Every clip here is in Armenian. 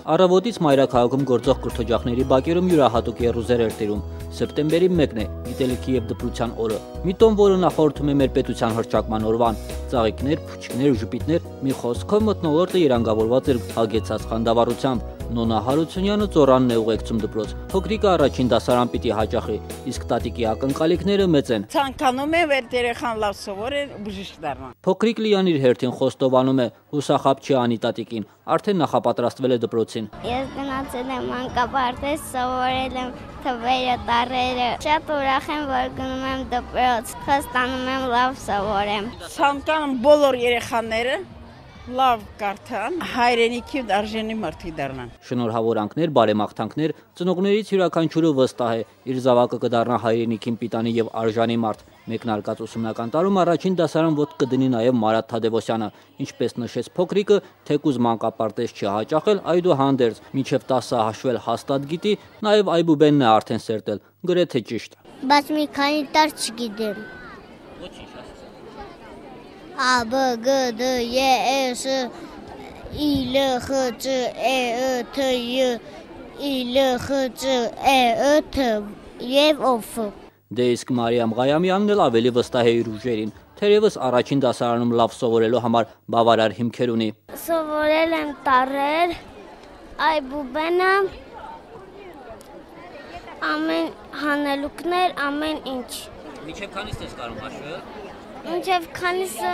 Առավոտից մայրաքաղաքում գործող կրթօջախների բակերում յուրահատուկ եռուզեր էր տիրում։ Սեպտեմբերի 1-ն է, գիտելիքի եւ դպրության օրը։ Մի տոն, որը նախորդում է մեր պետության հռչակման օրվան։ Ծաղիկներ, փուչիկներ ու ժպիտներ, մի խոսքով մթնոլորտը երանգավորված էր հագեցած խանդավառությամբ։ Նոնա Հարությունյանը ծորանն է ուղեկցում դպրոց։ Փոքրիկը առաջին դասարան պիտի հաճախի, իսկ տատիկի ակնկալիքները մեծ են։ Ցանկանում եմ որ երեխան լավ սովորի բժիշկ դառնա։ Փոքրիկ Լիան իր հերթին խոստովանում է, հուսախաբ չի անի տատիկին, արդեն նախապատրաստվել է դպրոցին։ Ես գնացել եմ մանկապարտեզ, սովորել եմ թվերը, տառերը։ Շատ ուրախ եմ, որ գնում եմ դպրոց, խոստանում եմ լավ սովորեմ։ Ցանկանում բոլոր երեխաները լավ կարդան, հայրենիքի արժանի մարդիկ դառնան։ Շնորհավորանքներ, բարեմաղթանքներ, ծնողներից յուրաքանչյուրը վստահ է, իր զավակը կդառնա հայրենիքին պիտանի եւ արժանի մարդ։ Մեկնարկած ուսումնական տարում առաջին դասարան ոտք կդնի նաեւ Մարատ Թադևոսյանը, ինչպես նշեց փոքրիկը, թեկուզ մանկապարտեզ չի հաճախել, այդուհանդերձ մինչև 10 հաշվել հաստատ գիտի, նաեւ այբուբենն է արդեն սերտել, գրեթե ճիշտ։ Բայց մի քանի տար չգիտեմ։ A, B, G, D, E, S, I, L, X, C, E, T, Y, I, L, X, C, E, T եւ F։ Դե իսկ Մարիամ Ղայամյանն էլ ավելի վստահ է իր ուժերին, թերևս առաջին դասարանում լավ սովորելու համար բավարար հիմքեր ունի։ Սովորել եմ տառեր, այբուբենը, ամեն հանելուկներ, ամեն ինչ։ Մինչև քանիստ ես կարող հաշվել։ Մինչև քանիսը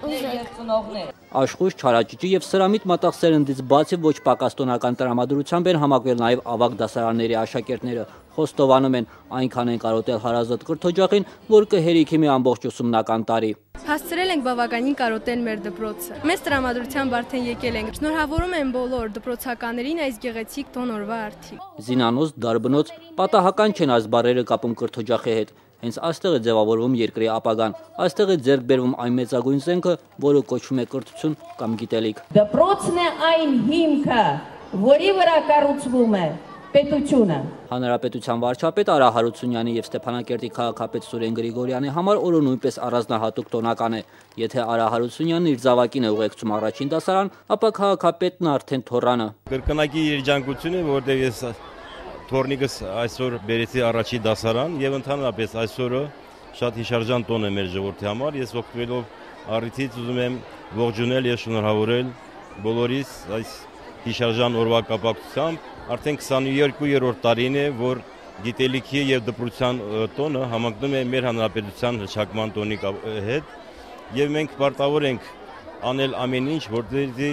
ուզեք։ Աշխույժ, չարաճճի եւ սրամիտ մատաղ սերնդից բացի ոչ պակաս տոնական տրամադրությամբ են համակվել նաեւ ավագ դասարանների աշակերտները։ Խոստովանում են, այնքան են կարոտել հարազատ կրթօջախին, որ կհերիքի մի ամբողջ ուսումնական տարի։ Հասցրել ենք բավականին կարոտել մեր դպրոցը։ Մեծ տրամադրությամբ արդեն եկել ենք։ Շնորհավորում եմ բոլոր դպրոցականներին այս գեղեցիկ տոն օրվա արդիվ։ Զինանոց, դարբնոց, պատահական չեն այս բառերը կապում կրթօջախի հետ։ Հենց այստեղ է ձևավորվում երկրի ապագան, այստեղ է ձեռք բերվում այն մեծագույն զենքը, որը կոչվում է կրթություն կամ գիտելիք։ Դպրոցն է այն հիմքը, որի վրա կառուցվում է պետությունը։ Հանրապետության վարչապետ Արա Հարությունյանի եւ Ստեփանակերտի քաղաքապետ Սուրեն Գրիգորյանի համար օրը նույնպես առանձնահատուկ տոնական է։ Եթե Արա Հարությունյանն իր զավակին է ուղեկցում առաջին դասարան, ապա քաղաքապետն արդեն թոռանը։ Կրկնակի երջանկություն է, որտեղ ես Թորնիկս այսօր բերեցի առաջին դասարան եւ ընդհանրապես այսօրը շատ հիշարժան տոն է մեր ժողովրդի համար։ Ես օգտվելով առիթից ուզում եմ ողջունել եւ շնորհավորել բոլորիս այս հիշարժան օրվա կապակցությամբ։ Արդեն 22-րդ տարին է, որ գիտելիքի եւ դպրոցության տոնը համընկնում է մեր հանրապետության հռչակման տոնի հետ եւ մենք պարտավոր ենք անել ամեն ինչ, որպեսզի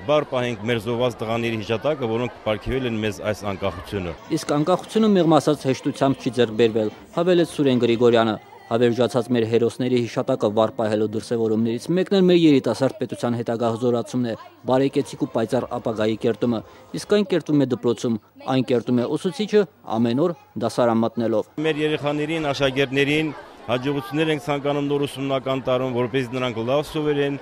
բար պահենք մեր զոհված տղաների հիշատակը, որոնք պարգևել են մեզ այս անկախությունը։ Իսկ անկախությունը մեղմ ասած հեշտությամբ չի ձեռք բերվել, հավելեց Սուրեն Գրիգորյանը։ Հավերժացած մեր հերոսների հիշատակը վար պահելու դրսևորումներից մեկն էլ մեր երիտասարդ պետության հետագա հզորացումն է, բարեկեցիկ ու պայծառ ապագայի կերտումը, իսկ այն կերտվում է դպրոցում, այն կերտում է ուսուցիչը ամեն օր դասարան մտնելով։ Մեր երեխաներին, աշակերտներին հաջողություններ ենք ցանկանում նոր ուսումնական տարում, որպեսզի նրանք լավ սովորեն,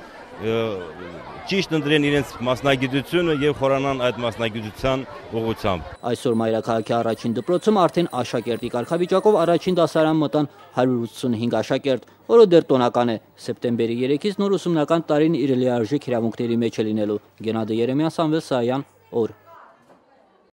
ճիշտ ընտրեն իրենց մասնագիտությունը եւ խորանան այդ մասնագիտության ուղղությամբ։ Այսօր մայրաքաղաքի առաջին դպրոցում արդեն աշակերտի կարգավիճակով առաջին դասարան մտան 185 աշակերտ, որը դեռ տոնական է։ Սեպտեմբերի 3-ից նոր ուսումնական տարին իր լիարժեք իրավունքների մեջ է լինելու։ Գենադի Երեմյան, Սամվել Սայան, օր։